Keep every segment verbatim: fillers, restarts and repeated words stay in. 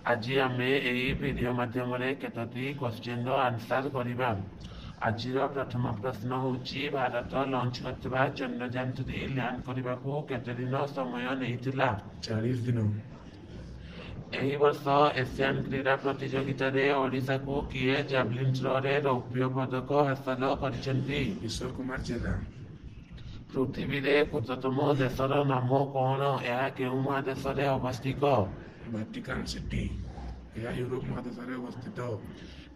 ଆଜି ଆମେ ଏହି ଭିଡ଼ିଓ ମାଧ୍ୟମରେ କେତୋଟି କ୍ୱେଶ୍ଚିନ୍ର ଆନ୍ସର୍ କରିବା। ଆଜିର ପ୍ରଥମ ପ୍ରଶ୍ନ ହେଉଛି, ଭାରତ ଲଞ୍ଚ କରିଥିବା ଚନ୍ଦ୍ରଯାନ ଥ୍ରୀ ଲ୍ୟାଣ୍ଡ କରିବାକୁ କେତେ ଦିନ ସମୟ ନେଇଥିଲା? ଚାଳିଶ ଦିନ। ଏହି ବର୍ଷ ଏସିଆନ୍ କ୍ରୀଡ଼ା ପ୍ରତିଯୋଗିତାରେ ଓଡ଼ିଶାକୁ କିଏ ଜାଭଲିନ୍ ଥ୍ରୋରେ ରୌପ୍ୟ ପଦକ ହାସଲ କରିଛନ୍ତି? କିଶୋର କୁମାର ଜେନା। ପୃଥିବୀରେ କ୍ଷୁଦ୍ରତମ ଦେଶର ନାମ କ'ଣ? ଏହା କେଉଁ ମହାଦେଶରେ ଅବସ୍ଥିତ? Vatican City. ଏହା ୟୁରୋପ ମହାଦେଶରେ ଅବସ୍ଥିତ।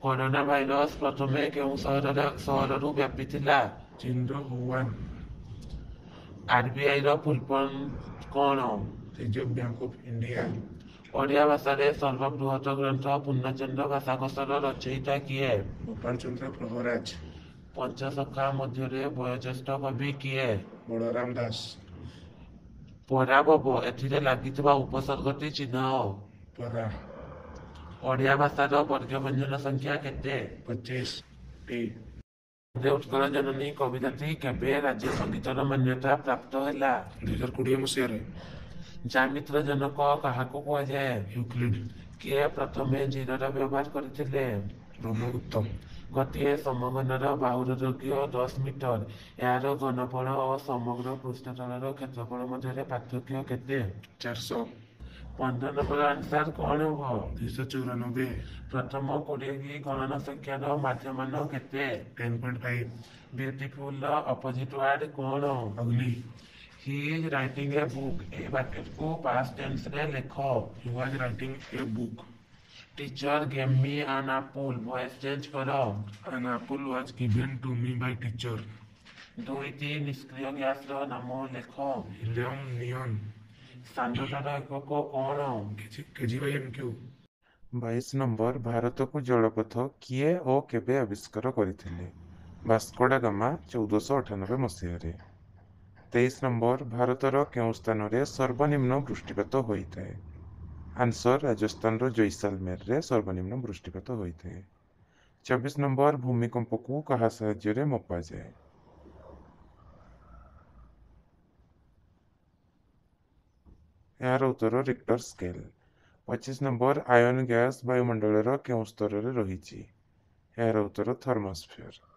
କରୋନା ଭାଇରସ ପ୍ରଥମେ କେଉଁ ସହରରେ ସହରରୁ ବ୍ୟାପିଥିଲା? ଚୀନର ହୁଆନ। ଆରବିଆଇର ଫୁଲ୍ ଫର୍ମ କ'ଣ? Reserve bank of India. Odia ଭାଷାରେ ସର୍ବବୃହତ ଗ୍ରନ୍ଥ ପୂର୍ଣ୍ଣଚନ୍ଦ୍ର ଭାଷାକୋଷର ରଚୟିତା କିଏ? ଗୋପାଳ ଚନ୍ଦ୍ର ପ୍ରହରାଜ। ପଞ୍ଚସଖା ମଧ୍ୟରେ ବୟୋଜ୍ୟେଷ୍ଠ କବି କିଏ? ବଳରାମ ଦାସ। ପରାଭବ ଏଥିରେ ଲାଗିଥିବା ଉପସର୍ଗଟି ଚିହ୍ନାଅ। ପରା। ଓଡ଼ିଆ ଭାଷାର ବର୍ଗ ବ୍ୟଞ୍ଜନ ସଂଖ୍ୟା କେତେ? ପଚିଶଟି। ବନ୍ଦେ ଉତ୍କଳ ଜନନୀ କବିତାଟି କେବେ ରାଜ୍ୟ ସଙ୍ଗୀତର ମାନ୍ୟତା ପ୍ରାପ୍ତ ହେଲା? ଦୁଇ ହଜାର କୋଡ଼ିଏ ମସିହାରେ। ଜ୍ୟାମିତିର ଜନକ କାହାକୁ କୁହାଯାଏ? ୟୁକ୍ଲିଡ। କିଏ ପ୍ରଥମେ ଜିରୋର ବ୍ୟବହାର କରିଥିଲେ? ବ୍ରହ୍ମଗୁପ୍ତ। ଗୋଟିଏ ସମଘନର ବାହୁର ଦୈର୍ଘ୍ୟ ଦଶ ମିଟର। ଏହାର ଘନଫଳ ଓ ସମଗ୍ର ପୃଷ୍ଠତଳର କ୍ଷେତ୍ରଫଳ ମଧ୍ୟରେ ପାର୍ଥକ୍ୟ କେତେ? ଚାରିଶହ। ପନ୍ଦର ନମ୍ବର ଆନ୍ସର କ'ଣ ହେବ? ଦୁଇଶହ ଚଉରାନବେ। ପ୍ରଥମ କୋଡ଼ିଏଟି ଗଣନ ସଂଖ୍ୟାର ମାଧ୍ୟମାନ କେତେ? Ten point five. ବ୍ୟୁଟିଫୁଲର opposite ward କ'ଣ? ଅଗ୍ଲି। He is writing a book, ଏହି ବାକ୍ୟଟିକୁ ପାଷ୍ଟ ଟେନ୍ସରେ ଲେଖ। He was writing a book. Teacher gave me an apple, voice change କର। An apple was given to me by teacher. ଦୁଇଟି ନିଷ୍କ୍ରିୟ ଗ୍ୟାସର ନାମ ଲେଖ। Helium, neon. ସାନ୍ଦ୍ରତାର ଏକକ କ'ଣ? KG Bai M cube. ବାଇଶ ନମ୍ବର, ଭାରତକୁ ଜଳପଥ କିଏ ଓ କେବେ ଆବିଷ୍କାର କରିଥିଲେ? ଭାସ୍କୋଡା ଗାମା, ଚଉଦଶହ ଅଠାନବେ ମସିହାରେ। ତେଇଶ ନମ୍ବର, ଭାରତର କେଉଁ ସ୍ଥାନରେ ସର୍ବନିମ୍ନ ବୃଷ୍ଟିପାତ ହୋଇଥାଏ? ଆନ୍ସର, ରାଜସ୍ଥାନର ଜୈସାଲମେରରେ ସର୍ବନିମ୍ନ ବୃଷ୍ଟିପାତ ହୋଇଥାଏ। ଚବିଶ ନମ୍ବର, ଭୂମିକମ୍ପକୁ କାହା ସାହାଯ୍ୟରେ ମପାଯାଏ? ଏହାର ଉତ୍ତର ରିକ୍ଟର ସ୍କେଲ। ପଚିଶ ନମ୍ବର, ଆୟନ ଗ୍ୟାସ ବାୟୁମଣ୍ଡଳର କେଉଁ ସ୍ତରରେ ରହିଛି? ଏହାର ଉତ୍ତର ଥର୍ମୋସ୍ଫିୟର।